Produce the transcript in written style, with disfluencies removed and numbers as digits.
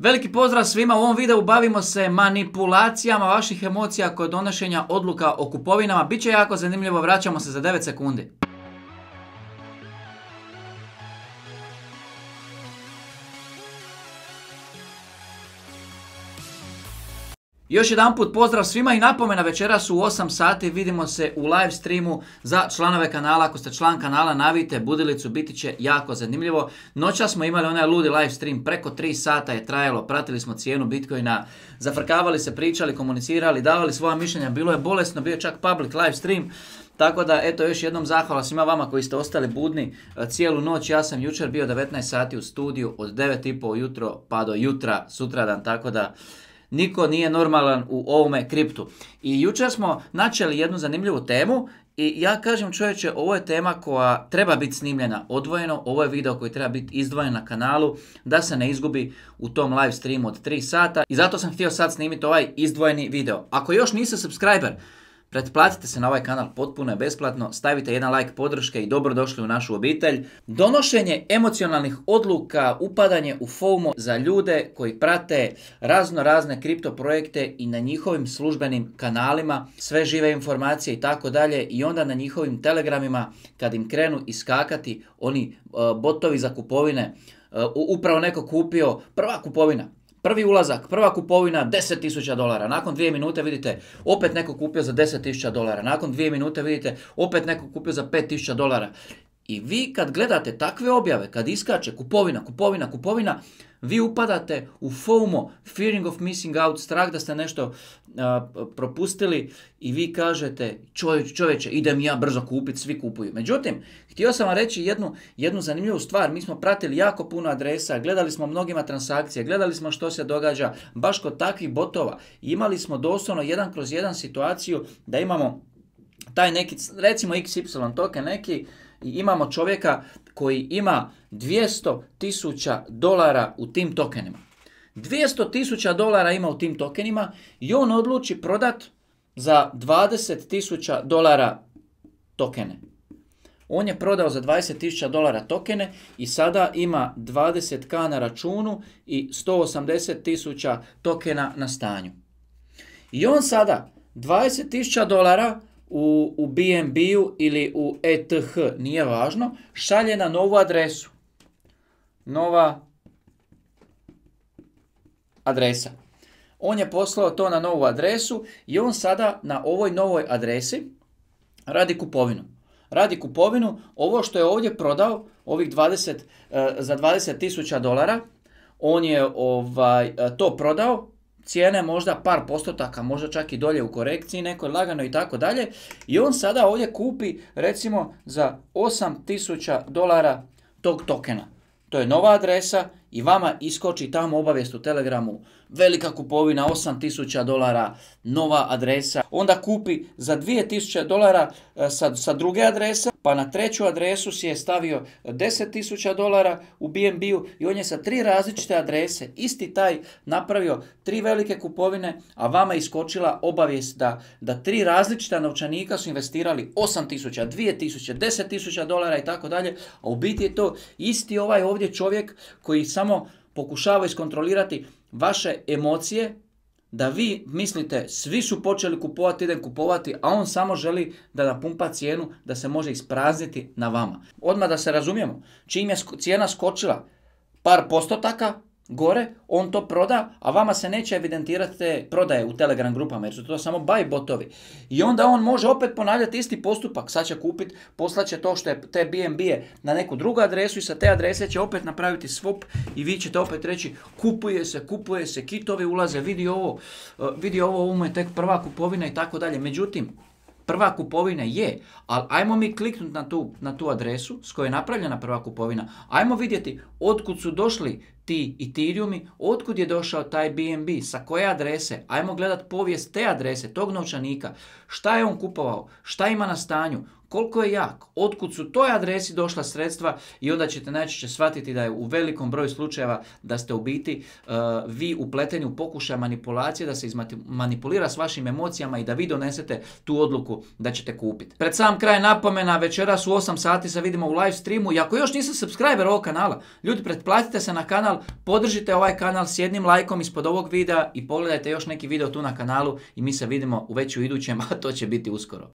Veliki pozdrav svima, u ovom videu bavimo se manipulacijama vaših emocija kod donošenja odluka o kupovinama. Biće jako zanimljivo, vraćamo se za 9 sekundi. Još jedan put pozdrav svima i napomena, večeras u 8 sati vidimo se u live streamu za članove kanala. Ako ste član kanala, navijte budilicu, biti će jako zanimljivo. Noćas smo imali onaj ludi live stream, preko 3 sata je trajalo, pratili smo cijenu Bitcoina, zafrkavali se, pričali, komunicirali, davali svoja mišljenja, bilo je bolesno, bio je čak public live stream. Tako da, eto, još jednom zahvala svima vama koji ste ostali budni cijelu noć. Ja sam jučer bio 19 sati u studiju, od 9:30 ujutro pa do jutra, sutradan, tako da niko nije normalan u ovome kriptu. I jučer smo načeli jednu zanimljivu temu i ja kažem, čovječe, ovo je tema koja treba biti snimljena odvojeno, ovo je video koji treba biti izdvojen na kanalu da se ne izgubi u tom live streamu od 3 sata i zato sam htio sad snimiti ovaj izdvojeni video. Ako još niste subscriber, pretplatite se na ovaj kanal, potpuno je besplatno, stavite jedan like podrške i dobrodošli u našu obitelj. Donošenje emocionalnih odluka, upadanje u FOMO za ljude koji prate razne kripto projekte i na njihovim službenim kanalima, sve žive informacije i tako dalje, i onda na njihovim telegramima kad im krenu iskakati oni botovi za kupovine, upravo neko kupio, prva kupovina. Prvi ulazak, prva kupovina, $10.000. Nakon 2 minute vidite opet neko kupio za $10.000. Nakon 2 minute vidite opet neko kupio za $5.000. I vi kad gledate takve objave, kad iskače kupovina, vi upadate u FOMO, fearing of missing out, strah da ste nešto propustili i vi kažete, čovječe, idem ja brzo kupiti, svi kupuju. Međutim, htio sam vam reći jednu zanimljivu stvar. Mi smo pratili jako puno adresa, gledali smo mnogima transakcije, gledali smo što se događa baš kod takvih botova. Imali smo doslovno 1/1 situaciju da imamo taj neki, recimo XY token neki, i imamo čovjeka koji ima $200.000 u tim tokenima. $200.000 ima u tim tokenima i on odluči prodat za $20.000 tokene. On je prodao za $20.000 tokene i sada ima 20k na računu i 180.000 tokena na stanju. I on sada $20.000 u BNB-u ili u ETH, nije važno, šalje na novu adresu. Nova adresa. On je poslao to na novu adresu i on sada na ovoj novoj adresi radi kupovinu. Ovo što je ovdje prodao, ovih za $20.000, on je to prodao. Cijene možda par postotaka, možda čak i dolje u korekciji, nekoj lagano i tako dalje. I on sada ovdje kupi recimo za $8.000 tog tokena. To je nova adresa i vama iskoči tamo obavijest u Telegramu. Velika kupovina, $8.000, nova adresa. Onda kupi za $2.000 sa druge adrese, pa na treću adresu si je stavio $10.000 u BNB-u i on je sa 3 različite adrese, isti taj, napravio 3 velike kupovine, a vama iskočila obavijest da 3 različita novčanika su investirali $8.000, $2.000, $10.000 i tako dalje, a u biti je to isti ovaj ovdje čovjek koji samo pokušava iskontrolirati vaše emocije, da vi mislite svi su počeli kupovati, idem kupovati, a on samo želi da napumpa cijenu da se može isprazniti na vama. Odmah da se razumijemo, čim je cijena skočila par postotaka gore, on to proda, a vama se neće evidentirati te prodaje u Telegram grupama, jer su to samo buy botovi. I onda on može opet ponavljati isti postupak, sad će kupiti, poslaće to što je te BNB-e na neku drugu adresu i sa te adrese će opet napraviti swap i vi ćete opet reći kupuje se, kitovi ulaze, vidi ovo mu je tek prva kupovina i tako dalje. Međutim, prva kupovina je, ali ajmo mi kliknuti na tu adresu s kojoj je napravljena prva kupovina. Ajmo vidjeti otkud su došli ti Ethereumi, otkud je došao taj BNB, sa koje adrese. Ajmo gledati povijest te adrese, tog novčanika. Šta je on kupovao, šta ima na stanju, koliko je jak, otkud su toj adresi došla sredstva i onda ćete najčešće shvatiti da je u velikom broju slučajeva da ste u biti vi upleteni u pokušaj manipulacije, da se manipulira s vašim emocijama i da vi donesete tu odluku da ćete kupiti. Pred sam kraj napomena, večeras u 8 sati se vidimo u live streamu i ako još niste subscriber ovog kanala, ljudi, pretplatite se na kanal, podržite ovaj kanal s jednim lajkom ispod ovog videa i pogledajte još neki video tu na kanalu i mi se vidimo već u idućem, a to će biti uskoro.